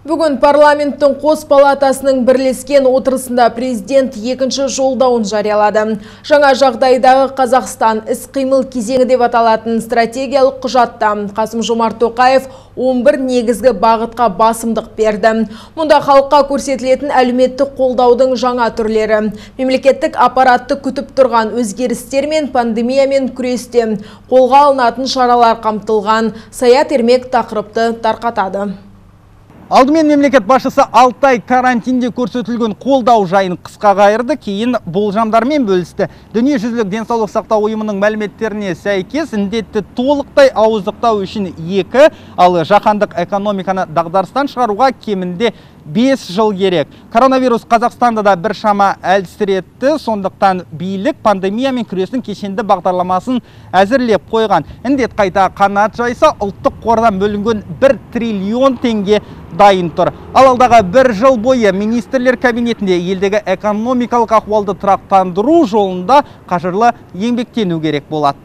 Бүгін парламенттің қос палатасының бірлескен отырысында президент екінші жолдауын жариялады. Жаңа жағдайдағы Қазақстан іс-қимыл кезеңі деп аталатын стратегиялық құжатта Қасым-Жомарт Тоқаев 11 негізгі бағытқа басымдық берді. Мұнда халыққа көрсетілетін әлеуметтік қолдаудың жаңа түрлері, мемлекеттік аппаратты күтіп тұрған өзгерістер мен пандемиямен күресте қолға алынатын шаралар қамтылған. Саят Ермек тақырыпты тарқатады. Алдымен мемлекет басшысы 6 ай карантинде көрсетілген қолдау жайын қысқа қайырды, кейін болжамдармен бөлісті. Дүниежүзілік денсаулық сақтау ұйымының мәліметтеріне сәйкес індетті толықтай ауыздықтау үшін 2, ал жаһандық экономиканы дағдарыстан шығаруға кемінде 5 жыл керек. Коронавирус Қазақстанда да біршама әлсіретті, сондықтан билік пандемиямен күрестің кешенді бағдарламасын әзірлеп қойған. Індет қайта қанат жайса, ұлттық қордан бөлінген 1 триллион теңге дайын тұр. Ал алдағы 1 жыл бойы министрлер кабинетінде елдегі экономикалық ахуалды тұрақтандыру жолында қажырлы еңбектену керек болады.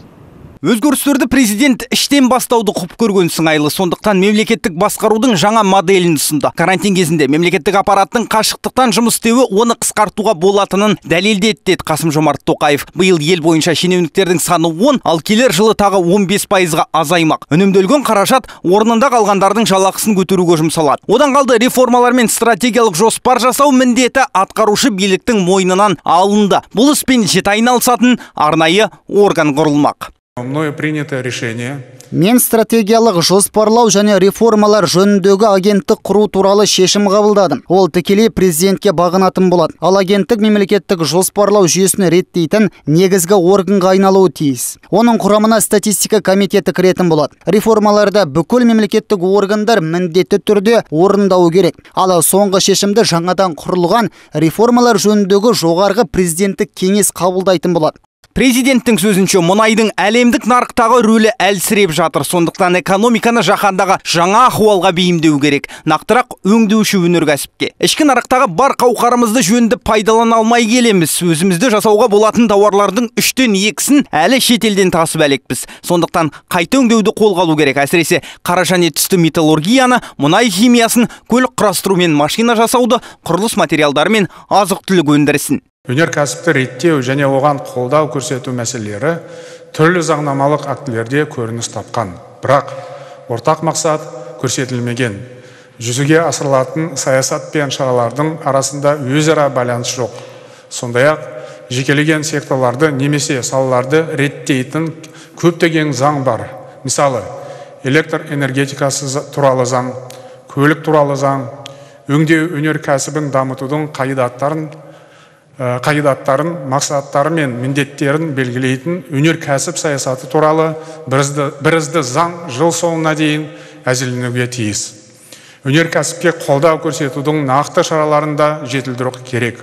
Өзгерістерді президент іштен бастауды құп көрген сыңайлы, сондықтан мемлекеттік басқарудың жаңа моделін ұсынды. Карантин кезінде мемлекеттік аппараттың қашықтықтан жұмыс істеуі оны қысқартуға болатынын дәлелдеді деді Қасым-Жомарт Тоқаев. Биыл ел бойынша шенеуніктердің саны 10, ал келер жылы тағы 15%-ға азаймақ. Үнемделген қаражат орнында қалғандардың жалақысын көтеруге жұмсалады. Одан қалды реформалар мен стратегиялық жоспар жасау міндеті атқарушы биліктің мойнынан алынды. Бұл іспен жіті айналысатын арнайы орган құрылмақ. Мною принято решение. Мен стратегиялық жоспарлау және реформалар жөніндегі агенттік құру туралы шешім қабылдадым. Ол тікелей президентке бағынатын болады. Ал агенттік мемлекеттік жоспарлау жүйесін реттейтін негізгі органға айналуы тиіс. Оның құрамына статистика комитеті кіретін болады. Реформаларда бүкіл мемлекеттік органдар міндетті түрде орындауы керек. Ал соңғы шешімді жаңадан құрылған реформалар жөніндегі жоғарғы президенттік кеңес қабылдайтын болады. Президенттің сөзінше мұнайдың әлемдік нарықтағы рөлі әлсіреп жатыр, сондықтан экономиканы жаһандағы жаңа ахуалға бейімдеу керек. Нақтырақ өңдеуші өнеркәсіпке. Ішкі нарықтағы бар қауқарымызды жөнді пайдалана алмай келеміз. Өзімізді жасауға болатын тауарлардың 3-тен 2-сін әлі шетелден тасып әлекпіз. Сондықтан қайта өңдеуді қолға алу керек. Әсіресе қара және түсті металлургияны, мұнай химиясын, көлік құрастыру мен машина жасауды, құрылыс материалдары мен азық-түлік өндірісін. Өнеркәсіпті реттеу және оған қолдау көрсету мәселелері түрлі заңнамалық актілерде көрініс тапқан. Бірақ ортақ мақсат көрсетілмеген. Жүзеге асырылатын саясат пен шаралардың арасында өзара байланыс жоқ. Сондай-ақ жекелеген секторларды немесе салаларды реттейтін көптеген заң бар. Мысалы, электр энергетикасы туралы заң, көлік туралы заң, өңдеу өнеркәсібін дамытудың қағидаттарын, мақсаттары мен міндеттерін белгілейтін өнеркәсіп саясаты туралы бірізді заң жыл соңына дейін әзірленуге тиіс. Өнеркәсіпке қолдау көрсетудің нақты шараларында жетілдіру керек.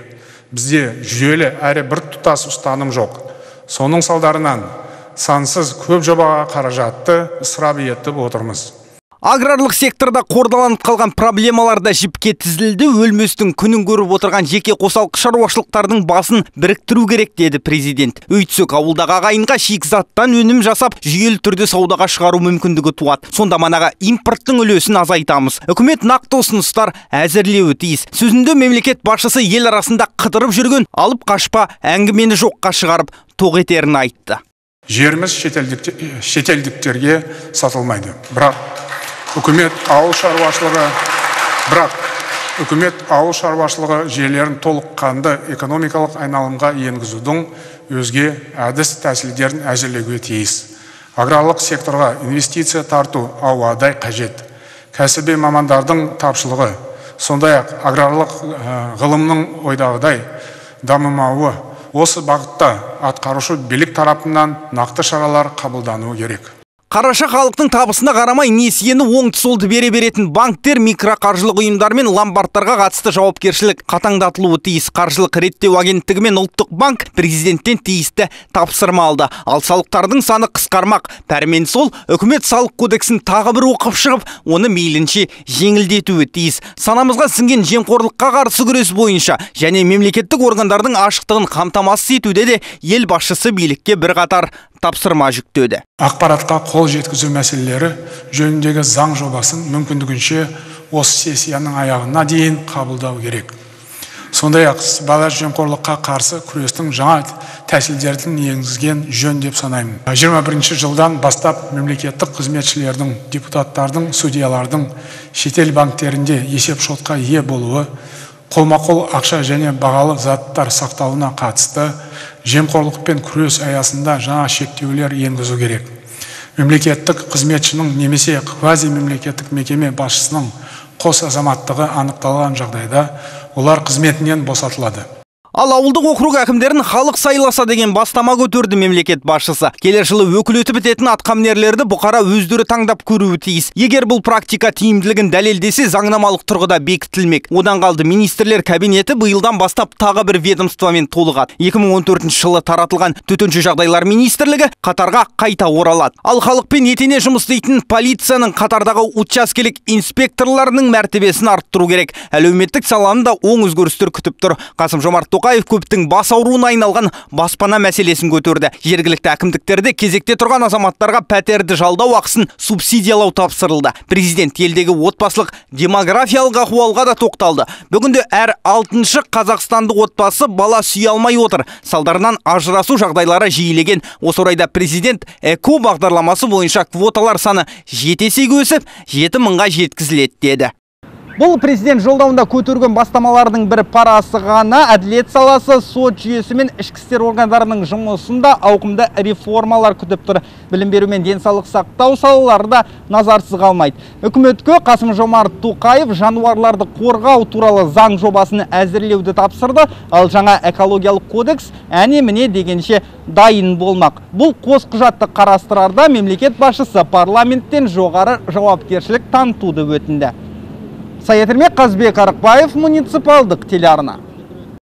Бізде жүйелі әрі бір тұтас ұстаным жоқ. Соның салдарынан сансыз көп жобаға қаражатты ысырап етіп отырмыз. Аграрлық секторда қордаланып қалған проблемаларда жіпке тізілді, өлместің күнін көріп отырған жеке қосалқы шаруашылықтардың басын біріктіру керек деді президент. Өйтсек ауылдағы ағайынға шикізаттан өнім жасап, жүйелі түрде саудаға шығару мүмкіндігі туады. Сонда манаға импорттың үлесін азайтамыз. Үкімет нақты ұсыныстар әзірлеуі тиіс. Сөзінде мемлекет басшысы ел арасында қыдырып жүрген алып қашпа әңгімені жоққа шығарып тоқ етерін айтты. Жеріміз шетелдіктерге сатылмайды. Бірақ үкімет ауыл шаруашылығы жүйелерін толыққанды экономикалық айналымға енгізудің өзге әдіс тәсілдерін әзірлеуге тиіс. Аграрлық секторға инвестиция тарту ауадай қажет. Кәсіби мамандардың тапшылығы, сондай-ақ аграрлық ғылымның ойдағыдай дамымауы, осы бағытта атқарушы билік тарапынан нақты шаралар қабылдануы керек. Қараша халықтың табысына қарамай несиені оңды-солды бере беретін банктер, микроқаржылық ұйымдар мен ломбардтарға қатысты жауапкершілік қатаңдатылуы тиіс. Қаржылық реттеу агенттігі мен ұлттық банк президенттен тиісті тапсырма алды. Ал салықтардың саны қысқармақ. Пәрмен сол, үкімет салық кодексін тағы бір оқып шығып, оны мейлінше жеңілдетуі тиіс. Санамызға сіңген жемқорлыққа қарсы күрес бойынша және мемлекеттік органдардың ашықтығын қамтамасыз етуде де ел басшысы билікке бірқатар тапсырма жүктеді. Ақпаратқа қол жеткізу мәселелері жөніндегі заң жобасын мүмкіндігінше осы сессияның аяғына дейін қабылдау керек. Сондай-ақ сыбайлас жемқорлыққа қарсы күрестің жаңа тәсілдерін енгізген жөн деп санаймын. 21 жылдан бастап мемлекеттік қызметшілердің, депутаттардың, судьялардың шетел банктерінде есеп-шотқа ие болуы, қолма-қол ақша және бағалы заттар сақтауына қатысты жемқорлықпен күрес аясында жаңа шектеулер енгізу керек. Мемлекеттік қызметшінің немесе квазимемлекеттік мекеме басшысының қос азаматтығы анықталған жағдайда олар қызметінен босатылады. Ал ауылдық округ әкімдерін халық сайласа деген бастама көтерді мемлекет басшысы. Келер жылы өкілеті бітетін атқамінерлерді бұқара өздері таңдап көруі тиіс. Егер бұл практика тиімділігін дәлелдесе, заңнамалық тұрғыда бекітілмек. Одан қалды министрлер кабинеті биылдан бастап тағы бір ведомствомен толығады. 2014 жылы таратылған төтенше жағдайлар министрлігі қатарға қайта оралады. Ал халықпен етене жұмыс істейтін полицияның қатардағы учаскелік инспекторларының мәртебесін арттыру керек. Әлеуметтік саланы да оң өзгерістер күтіп тұр. Қасым-Жомарт Тоқаев көптің бас ауруына айналған баспана мәселесін көтерді. Жергілікті әкімдіктерде кезекте тұрған азаматтарға пәтерді жалдау ақысын субсидиялау тапсырылды. Президент елдегі отбасылық демографиялық ахуалға да тоқталды. Бүгінде әр 6-шы қазақстандық отбасы бала сүйе алмай отыр. Салдарынан ажырасу жағдайлары жиілеген. Осы орайда президент ЭКО бағдарламасы бойынша квоталар саны 7 есеге өсіп, 7 мыңға жеткізіледі деді. Бұл президент жолдауында көтерген бастамалардың бір парасы ғана. Әділет саласы, сот жүйесі мен ішкі істер органдарының жұмысында ауқымды реформалар күтіп тұр. Білім беру мен денсаулық сақтау салалары да назарсыз қалмайды. Үкіметке Қасым-Жомарт Тоқаев жануарларды қорғау туралы заң жобасын әзірлеуді тапсырды, ал жаңа экологиялық кодекс әне-міне дегенше дайын болмақ. Бұл қос құжатты қарастырарда мемлекет басшысы парламенттен жоғары жауапкершілік танытуды өтінді. Саят Ермек, Қазбек Арықбаев, муниципалдық телеарна.